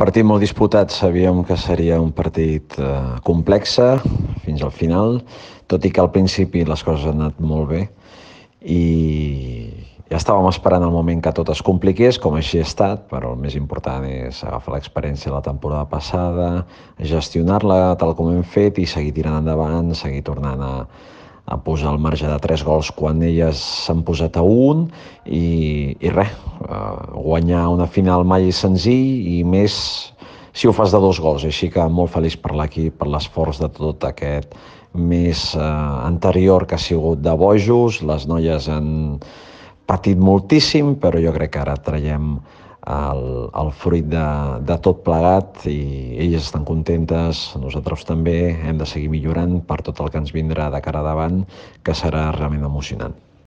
Partit molt disputat, sabíem que seria un partit complex fins al final, tot i que al principi les coses han anat molt bé i ja estàvem esperant el moment que tot es compliqués, com així ha estat, però el més important és agafar l'experiència de la temporada passada, gestionar-la tal com hem fet i seguir tirant endavant, seguir tornant a posar el marge de 3 gols quan elles s'han posat a 1 i res, guanyar una final mai és senzill i més si ho fas de 2 gols, així que molt feliç per l'equip, per l'esforç de tot aquest mes anterior que ha sigut de bojos, les noies han patit moltíssim, però jo crec que ara traiem el fruit de tot plegat i elles estan contentes, nosaltres també hem de seguir millorant per tot el que ens vindrà de cara davant, que serà realment emocionant.